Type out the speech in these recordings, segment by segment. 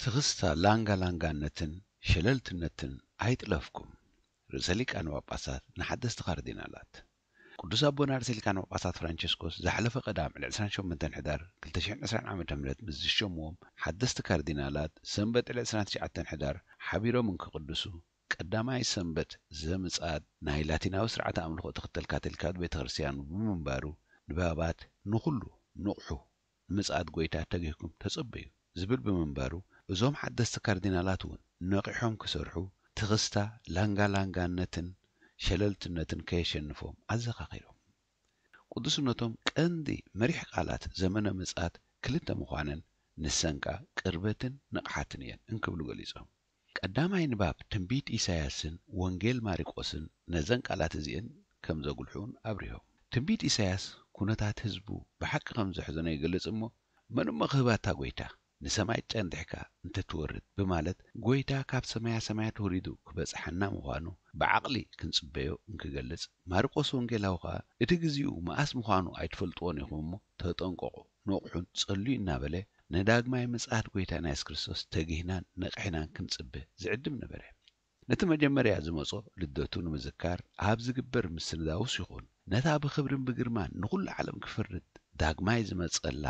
ትኽስታ ላንጋ ላንጋነትን ሸለልትነትን ኣይጥለፍኩም። ርእሰ ሊቃነ ጳጳሳት ንሓደስቲ ካርዲናላት። ቅዱስ ኣቦና ርእሰ ሊቃነ ጳጳሳት ፍራንቸስኮስ ዝሓለፈ ቀዳም ዕለት ዕስራን ሸሞንተን ሕዳር ክልተ ሽሕን ዕስራን ዓመተ ምህረት ምስ ዝሸምዎም ሓደስቲ ካርዲናላት ሰንበት ዕለት ዕስራን ትሽዓተን ሕዳር ሓቢሮም እንክቕድሱ ቀዳማይ ሰንበት ዘምጽኣት ናይ ላቲናዊ ስርዓተ ኣምልኾ ትኽተል ካቶሊካዊት ቤተ ክርስቲያን ብምንባሩ ንባባት ንኹሉ ንቕሑ ንምጽኣት ጎይታ ተጊህኩም ተጸበዩ ዝብል ብምንባሩ እዞም ሓደስቲ ካርዲናላት እውን ነቒሖም ክሰርሑ ትኽስታ ላንጋላንጋነትን ሸለልትነትን ከየሸንፎም ኣዘኻኺሮም። ቅዱስነቶም ቀንዲ መሪሕ ቃላት ዘመነ ምጽኣት ክልተ ምዃነን ንሰን ከኣ ቅርበትን ንቕሓትን እየን እንክብሉ ገሊጾም። ቀዳማይ ንባብ ትንቢት ኢሳያስን ወንጌል ማሪቆስን ነዘን ቃላት እዚኤን ከም ዘጉልሑን ኣብሪሆም። ትንቢት ኢሳያስ ኩነታት ህዝቡ ብሓቂ ከም ዘሕዘኖ ይገልጽ እሞ፣ መን እሞ ክህባታ ጎይታ ንሰማይ ጨንዲሕካ እንተትወርድ ብማለት ጎይታ ካብ ሰማያ ሰማያት ወሪዱ ክበጽሓና ምዃኑ ብዓቕሊ ክንጽበዮ እንክገልጽ፣ ማርቆስ ወንጌላዊ ከኣ እቲ ግዜኡ መኣስ ምዃኑ ኣይትፈልጥዎን ኢኹም እሞ ተጠንቀቑ፣ ንቕሑን ጸልዩ እናበለ ንዳግማይ ምጽኣት ጎይታና የሱስ ክርስቶስ ተጊህናን ነቒሕናን ክንጽበ ዝዕድም ነበረ። ነቲ መጀመርያ ዝመጾ ልደቱ ንምዝካር ኣብ ዝግበር ምስንዳውስ ይኹን ነታ ብኽብርን ብግርማን ንኹሉ ዓለም ክፈርድ ዳግማይ ዝመጸላ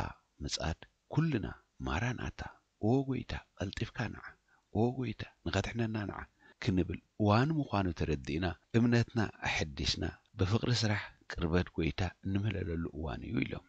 ምጽኣት ኩልና ማራናታ፣ ኦ ጎይታ ቀልጢፍካ ንዓ፣ ኦ ጎይታ ንኸድሕነና ንዓ ክንብል እዋኑ ምዃኑ ተረዲእና እምነትና ኣሐዲስና ብፍቕሪ ስራሕ ቅርበት ጎይታ እንምህለለሉ እዋን እዩ ኢሎም።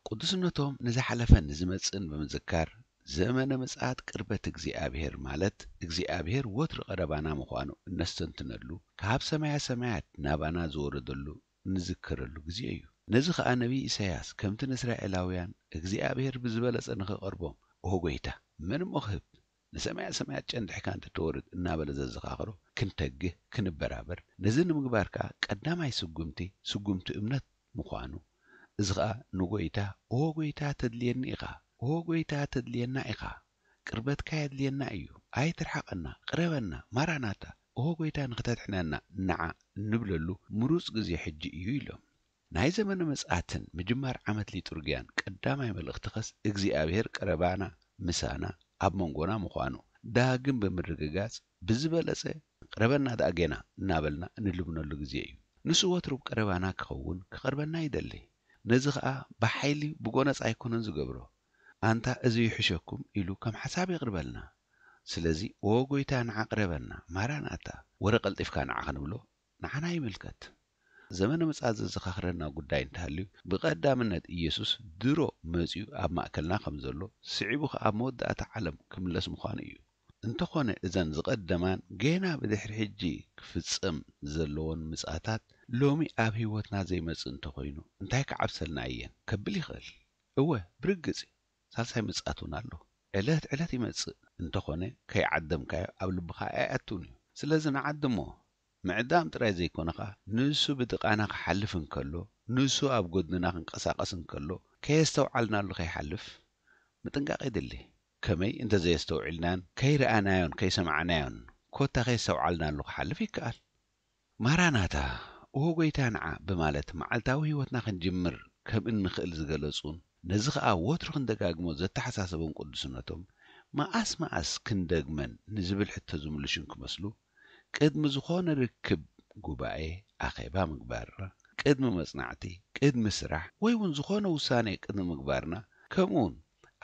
ቅዱስነቶም ንዝሓለፈን ንዝመጽእን ብምዝካር ዘመነ ምጽኣት ቅርበት እግዚኣብሔር ማለት እግዚኣብሔር ወትሩ ቀረባና ምዃኑ እነስተንትነሉ ካብ ሰማያ ሰማያት ናባና ዝወረደሉ እንዝክረሉ ግዜ እዩ። ነዚ ኸኣ ነቢይ ኢሳያስ ከምቲ ንእስራኤላውያን እግዚኣብሔር ብዝበለጸ ንኽቐርቦም ኦ ጎይታ መን እሞ ክህብ ንሰማያ ሰማያት ጨንድሕካ እንተተወርድ እናበለ ዘዘኻኽሮ ክንተግህ ክንበራበር ነዚ ንምግባር ከኣ ቀዳማይ ስጉምቲ ስጉምቲ እምነት ምዃኑ እዚ ኸኣ ንጎይታ ኦ ጎይታ ተድልየኒ ኢኻ ኦ ጎይታ ተድልየና ኢኻ ቅርበትካ የድልየና እዩ ኣይትርሓቐና ቅረበና ማራናታ ኦ ጎይታ ንኽተድሕነና ንዓ እንብለሉ ምሩጽ ግዜ ሕጂ እዩ ኢሎም ናይ ዘመነ ምጽኣትን ምጅማር ዓመት ሊጡርግያን ቀዳማይ መልእኽቲ ኸስ እግዚኣብሔር ቀረባና ምሳና ኣብ መንጎና ምዃኑ ዳግም ብምርግጋጽ ብዝበለጸ ቅረበና ደኣ ጌና እናበልና እንልምነሉ ግዜ እዩ። ንሱ ወትሩ ቀረባና ክኸውን ክቐርበና ይደሊ። ነዚ ኸኣ ብሓይሊ ብጎነጽ ኣይኮነን ዝገብሮ። ኣንታ እዚ ይሕሸኩም ኢሉ ከም ሓሳብ የቕርበልና። ስለዚ ኦ ጎይታ ንዓ ቅረበና፣ ማራናታ፣ ወረ ቀልጢፍካ ንዓ ክንብሎ ንዓና ይምልከት። ዘመነ ምጽኣት ዘዘኻኽረና ጉዳይ እንተሃልዩ ብቐዳምነት ኢየሱስ ድሮ መጺኡ ኣብ ማእከልና ከም ዘሎ ስዒቡ ኸኣ ኣብ መወዳእታ ዓለም ክምለስ ምዃኑ እዩ። እንተኾነ እዘን ዝቐደማን ጌና ብድሕሪ ሕጂ ክፍጸም ዘለዎን ምጽኣታት ሎሚ ኣብ ህይወትና ዘይመጽእ እንተኾይኑ እንታይ ክዓብሰልና እየን ከብል ይኽእል። እወ ብርግጽ እዩ። ሳልሳይ ምጽኣት እውን ኣሎ። ዕለት ዕለት ይመጽእ እንተኾነ ከይዓደምካዮ ኣብ ልብኻ ኣይኣቱን እዩ። ስለዚ ንዓድሞ። ምዕዳም ጥራይ ዘይኮነ ኸኣ ንሱ ብጥቓና ክሓልፍ እንከሎ፣ ንሱ ኣብ ጎድንና ክንቀሳቐስ እንከሎ ከየስተውዓልናሉ ከይሓልፍ ምጥንቃቕ የድሊ። ከመይ እንተዘየስተውዒልናን ከይረኣናዮን ከይሰማዕናዮን ኮታ ከየስተውዓልናሉ ክሓልፍ ይከኣል። ማራናታ፣ ኦ ጎይታ ንዓ ብማለት መዓልታዊ ህይወትና ክንጅምር ከም እንኽእል ዝገለጹን ነዚ ኸኣ ወትሩ ክንደጋግሞ ዘተሓሳሰቦም ቅዱስነቶም፣ መኣስ መኣስ ክንደግመን ንዝብል ሕቶ ዝምልሹን ክመስሉ፣ ቅድሚ ዝኾነ ርክብ ጉባኤ፣ ኣኼባ ምግባርና፣ ቅድሚ መጽናዕቲ፣ ቅድሚ ስራሕ ወይ እውን ዝኾነ ውሳኔ ቅድሚ ምግባርና፣ ከምኡውን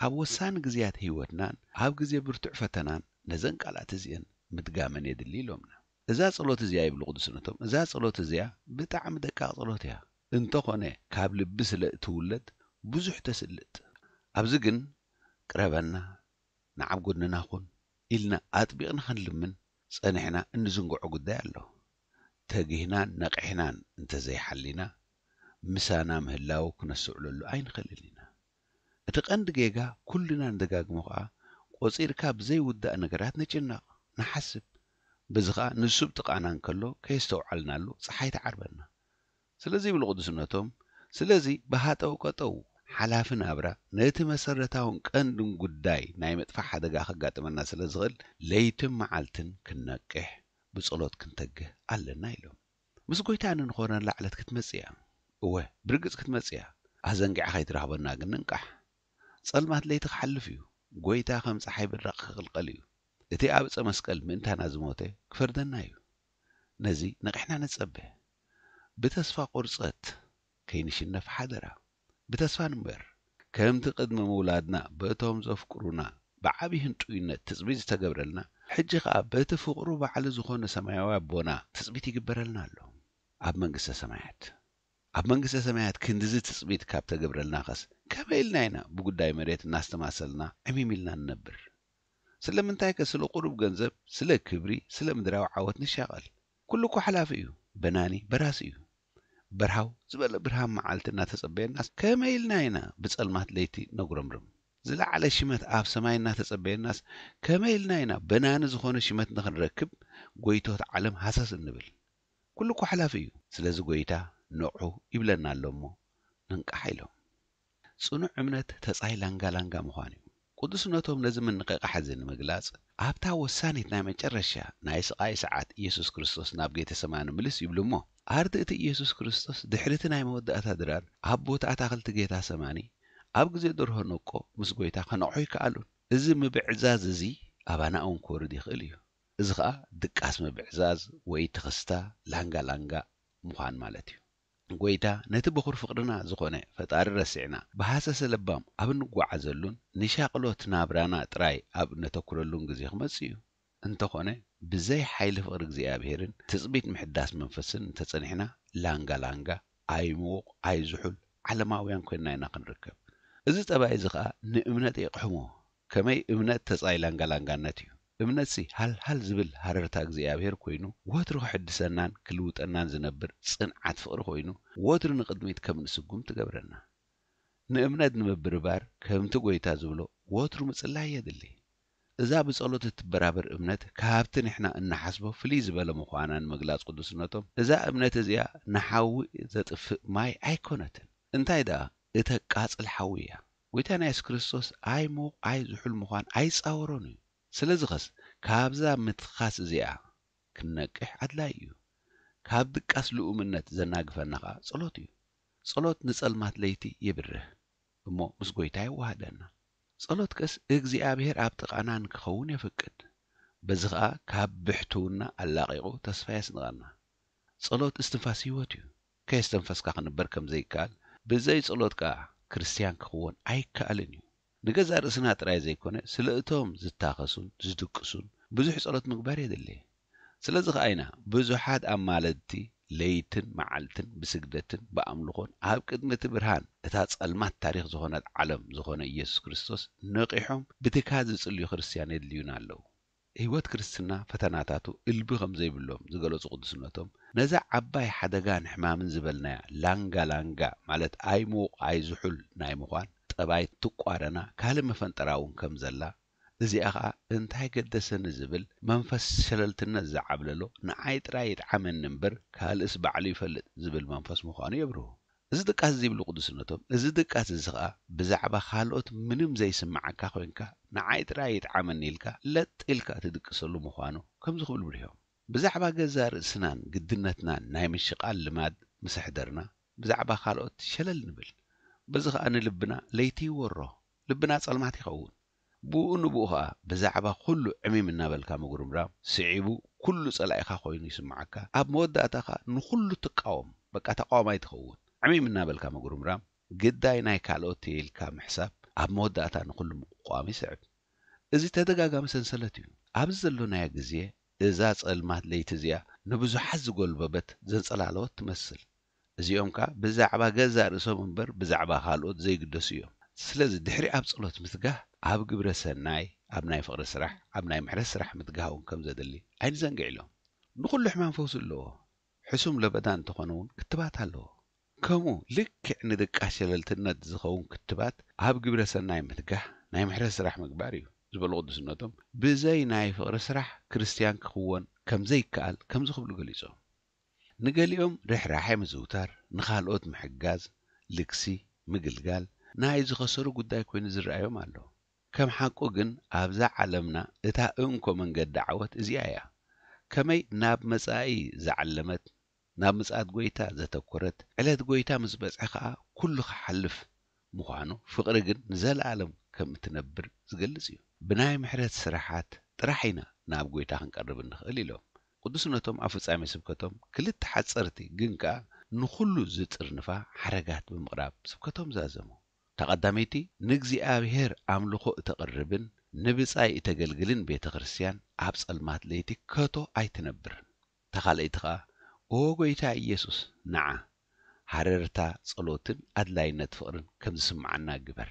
ኣብ ወሳኒ ግዜያት ህይወትናን ኣብ ግዜ ብርቱዕ ፈተናን ነዘን ቃላት እዚአን ምድጋመን የድሊ ኢሎምና። እዛ ጸሎት እዚኣ ይብሉ ቅዱስነቶም፣ እዛ ጸሎት እዚኣ ብጣዕሚ ደቃቕ ጸሎት እያ። እንተኾነ ካብ ልቢ ስለ እትውለድ ብዙሕ ተስልጥ። ኣብዚ ግን ቅረበና፣ ንዓብ ጎድንና ኩን ኢልና ኣጥቢቕና ክንልምን ጸኒሕና እንዝንግዖ ጉዳይ ኣሎ። ተጊህናን ነቒሕናን እንተዘይሓሊና ምሳና ምህላው ክነስተውዕለሉ ኣይንኽእልን ኢና። እቲ ቀንዲ ጌጋ ኩልና ንደጋግሞ ኸኣ ቆጺርካ ብዘይውዳእ ነገራት ንጭነቕ፣ ንሓስብ። በዚ ኸኣ ንሱ ብጥቓና እንከሎ ከየስተውዓልናሉ ጸሓይ ትዓርበና። ስለዚ ይብሉ ቅዱስነቶም፣ ስለዚ ብሃጠው ቀጠው ሓላፊ ናብራ ነቲ መሰረታውን ቀንድን ጉዳይ ናይ ምጥፋእ ሓደጋ ከጋጥመና ስለ ዝኽእል ለይትን መዓልትን ክንነቅሕ ብጸሎት ክንተግህ ኣለና ኢሎም። ምስ ጎይታ እንኾነላ ዕለት ክትመጽእ እያ። እወ ብርግጽ ክትመጽእ እያ። ኣዘንጊዓ ከይትረኽበና ግን ንንቃሕ። ጸልማት ለይቲ ክሓልፍ እዩ። ጎይታ ከም ጸሓይ ብራቕ ክቕልቀል እዩ። እቲ ኣብ ዕጸ መስቀል ምእንታና ዝሞተ ክፈርደና እዩ። ነዚ ነቒሕና ንጸበ። ብተስፋ ቁርጸት ከይንሽነፍ ሓደራ። ብተስፋ ንንበር። ከምቲ ቅድሚ ምውላድና በቶም ዘፍቅሩና ብዓቢ ህንጡይነት ትጽቢት ዝተገብረልና፣ ሕጂ ኸኣ በቲ ፍቕሩ ባዕሉ ዝኾነ ሰማያዊ ኣቦና ትጽቢት ይግበረልና ኣሎ። ኣብ መንግስተ ሰማያት ኣብ መንግስተ ሰማያት ክንድዚ ትጽቢት ካብ ተገብረልናኸስ ከመይ ኢልና ኢና ብጉዳይ መሬት እናስተማሰልና ዕሚም ኢልና ንነብር? ስለምንታይከ ስለ ቁሩብ ገንዘብ፣ ስለ ክብሪ፣ ስለ ምድራዊ ዓወት ንሻቐል? ኩሉ እኮ ሓላፊ እዩ። በናኒ በራሲ እዩ። በርሃው ዝበለ ብርሃን መዓልቲ እናተጸበየናስ ከመይ ኢልና ኢና ብጸልማት ለይቲ ነጉረምርም? ዝለዓለ ሽመት ኣብ ሰማይ እናተጸበየናስ ከመይ ኢልና ኢና በናኒ ዝኾነ ሽመት ንኽንረክብ ጎይቶት ዓለም ሃሰስ እንብል? ኩሉ እኮ ሓላፊ እዩ። ስለዚ ጎይታ ንቕሑ ይብለና ኣሎ እሞ ንንቃሕ ኢሎም። ጽኑዕ እምነት ተጻይ ላንጋ ላንጋ ምዃን እዩ። ቅዱስነቶም ነዚ ምንቕቓሕ እዚ ንምግላጽ ኣብታ ወሳኒት ናይ መጨረሻ ናይ ስቓይ ሰዓት ኢየሱስ ክርስቶስ ናብ ጌተሰማኒ ምልስ ይብሉ እሞ ኣርድእቲ ኢየሱስ ክርስቶስ ድሕሪ እቲ ናይ መወዳእታ ድራር ኣብ ቦታ ኣታኽልቲ ጌታ ሰማኒ ኣብ ግዜ ደርሆ ነቆ ምስ ጎይታ ከነቕሑ ይከኣሉን። እዚ ምብዕዛዝ እዚ ኣባና እውን ክወርድ ይኽእል እዩ። እዚ ኸኣ ድቃስ ምብዕዛዝ ወይ ትኽስታ ላንጋ ላንጋ ምዃን ማለት እዩ። ጎይታ ነቲ በኹር ፍቕርና ዝኾነ ፈጣሪ ረሲዕና ብሃሰሰ ለባም ኣብ እንጓዓዘሉን ንሻቕሎት ናብራና ጥራይ ኣብ እነተኩረሉን ግዜ ክመጽእ እዩ። እንተኾነ ብዘይ ሓይሊ ፍቕሪ እግዚኣብሔርን ትጽቢት ምሕዳስ መንፈስን እንተጸኒሕና ላንጋ ላንጋ ኣይምውቕ ኣይዝሑል ዓለማውያን ኮይንና ኢና ክንርከብ። እዚ ጠባይ እዚ ኸኣ ንእምነት የቕሕሞ። ከመይ እምነት ተጻይ ላንጋ ላንጋነት እዩ። እምነትሲ ሃልሃል ዝብል ሃረርታ እግዚኣብሔር ኮይኑ ወትሩ ክሕድሰናን ክልውጠናን ዝነብር ጽንዓት ፍቕሪ ኮይኑ ወትሩ ንቕድሚት ከም ንስጉም ትገብረና። ንእምነት ንምብርባር ከምቲ ጎይታ ዝብሎ ወትሩ ምጽላይ የድሊ። እዛ ብጸሎት እትበራበር እምነት ካብቲ ንሕና እንሓስቦ ፍልይ ዝበለ ምዃና ንምግላጽ ቅዱስነቶም እዛ እምነት እዚኣ ንሓዊ ዘጥፍእ ማይ ኣይኮነትን። እንታይ ደኣ እተቃጽል ሓዊ እያ። ጎይታና የሱስ ክርስቶስ ኣይሙቕ ኣይዝሑል ምዃን ኣይጻወሮን እዩ። ስለዚ ኸስ ካብዛ ምትኻስ እዚኣ ክንነቅሕ ኣድላይ እዩ። ካብ ድቃስ ልኡምነት ዘናግፈና ኸኣ ጸሎት እዩ። ጸሎት ንጸልማት ለይቲ የብርህ እሞ ምስ ጎይታ የዋህደና። ጸሎት ከስ እግዚኣብሔር ኣብ ጥቓና ንክኸውን የፍቅድ። በዚ ኸኣ ካብ ብሕትውና ኣላቒቑ ተስፋ የስንቐና። ጸሎት እስትንፋስ ህይወት እዩ። ከየስተንፈስካ ክንበር ከም ዘይከኣል ብዘይ ጸሎት ከኣ ክርስትያን ክኽወን ኣይከኣልን እዩ። ንገዛእ ርእስና ጥራይ ዘይኮነ ስለ እቶም ዝታኸሱን ዝድቅሱን ብዙሕ ጸሎት ምግባር የድሊ። ስለዚ ኸኣ ኢና ብዙሓት ኣማለድቲ ለይትን መዓልትን ብስግደትን ብኣምልኾን ኣብ ቅድሚ እቲ ብርሃን እታ ጸልማት ታሪኽ ዝኾነት ዓለም ዝኾነ ኢየሱስ ክርስቶስ ነቒሖም ብትግሃት ዝጽልዩ ክርስትያን የድልዩና ኣለዉ። ህይወት ክርስትና ፈተናታቱ እልቢ ከም ዘይብሎም ዝገለጹ ቅዱስነቶም ነዛ ዓባይ ሓደጋን ሕማምን ዝበልናያ ላንጋ ላንጋ ማለት ኣይሙቕ ኣይዝሑል ናይ ምዃን ጠባይ ትቋረና ካልእ መፈንጠራ እውን ከም ዘላ እዚኣ ኸኣ እንታይ ገደሰኒ ዝብል መንፈስ ሸለልትነት ዝዓብለሎ ንዓይ ጥራይ ይጥዓመኒ እምበር ካልእስ ባዕሉ ይፈልጥ ዝብል መንፈስ ምዃኑ የብርሁ። እዚ ድቃስ እዚ ይብሉ ቅዱስነቶም፣ እዚ ድቃስ እዚ ኸኣ ብዛዕባ ካልኦት ምንም ዘይስምዓካ ኮይንካ ንዓይ ጥራይ ይጥዓመኒ ኢልካ ለጥ ኢልካ ትድቅሰሉ ምዃኑ ከምዚ ክብሉ ብሪሆም። ብዛዕባ ገዛእ ርእስናን ግድነትናን ናይ ምሽቓል ልማድ ምስ ኣሕደርና ብዛዕባ ካልኦት ሸለል ንብል። በዚ ኸኣ ንልብና ለይቲ ይወሮ፣ ልብና ጸልማት ይኸውን። ብኡ ንብኡ ኸኣ ብዛዕባ ኩሉ ዕሚም እናበልካ ምጉርምራም ስዒቡ ኩሉ ጸላኢኻ ኮይኑ ይስምዓካ። ኣብ መወዳእታ ኸኣ ንኹሉ ትቃወም፣ በቃ ተቃዋማይ ትኸውን። ዕሚም እናበልካ ምጉርምራም ግዳይ ናይ ካልኦት እየ ኢልካ ምሕሳብ ኣብ መወዳእታ ንኹሉ ምቁቋም ይስዕብ። እዚ ተደጋጋሚ ሰንሰለት እዩ። ኣብዚ ዘሎናዮ ግዜ እዛ ጸልማት ለይቲ እዚኣ ንብዙሓት ዝጎልበበት ዘንጸላለወት ትመስል። እዚኦም ከኣ ብዛዕባ ገዛእ ርእሶም እምበር ብዛዕባ ካልኦት ዘይግደሱ እዮም። ስለዚ ድሕሪ ኣብ ጸሎት ምትጋህ ኣብ ግብረ ሰናይ፣ ኣብ ናይ ፍቕሪ ስራሕ፣ ኣብ ናይ ምሕረት ስራሕ ምትጋህ እውን ከም ዘድሊ ኣይንዘንግዕ ኢሎም። ንኹሉ ሕማም ፈውሲ ኣለዎ። ሕሱም ለበዳ እንተኾነ እውን ክትባት ኣለዎ። ከምኡ ልክዕ ንድቃስ ሸለልትነት ዝኸውን ክትባት ኣብ ግብረ ሰናይ ምትጋህ ናይ ምሕረት ስራሕ ምግባር እዩ ዝበሉ ቅዱስነቶም ብዘይ ናይ ፍቕሪ ስራሕ ክርስትያን ክኽወን ከም ዘይከኣል ከምዚ ክብሉ ገሊጾም። ንገሊኦም ርሕራሐ ምዝውታር፣ ንኻልኦት ምሕጋዝ፣ ልግሲ፣ ምግልጋል ናይ ዝኸሰሩ ጉዳይ ኮይኑ ዝረኣዮም ኣሎ። ከም ሓቁ ግን ኣብዛ ዓለምና እታ እንኮ መንገዲ ዓወት እዚኣ እያ። ከመይ ናብ መጻኢ ዝዓለመት ናብ ምጽኣት ጐይታ ዘተኮረት ዕለት ጐይታ ምስ በጽሐ ኸኣ ኩሉ ክሓልፍ ምዃኑ ፍቕሪ ግን ንዘለኣለም ከም እትነብር ዝገልጽ እዩ። ብናይ ምሕረት ስራሓት ጥራሕ ኢና ናብ ጐይታ ክንቀርብ እንኽእል ኢሎም። ቅዱስነቶም ኣብ ፍጻሜ ስብከቶም ክልተ ሓጸርቲ ግን ከኣ ንኹሉ ዝጥርንፋ ሓረጋት ብምቕራብ ስብከቶም ዛዘሙ። እታ ቀዳመይቲ ንእግዚኣብሔር ኣምልኾ እተቕርብን ንብጻይ እተገልግልን ቤተ ክርስቲያን ኣብ ጸልማት ለይቲ ከቶ ኣይትነብርን። እታ ካልኣይቲ ኸኣ ኦ ጐይታ ኢየሱስ ንዓ ሃረርታ ጸሎትን ኣድላይነት ፍቕርን ከም ዝስምዓና ግበር።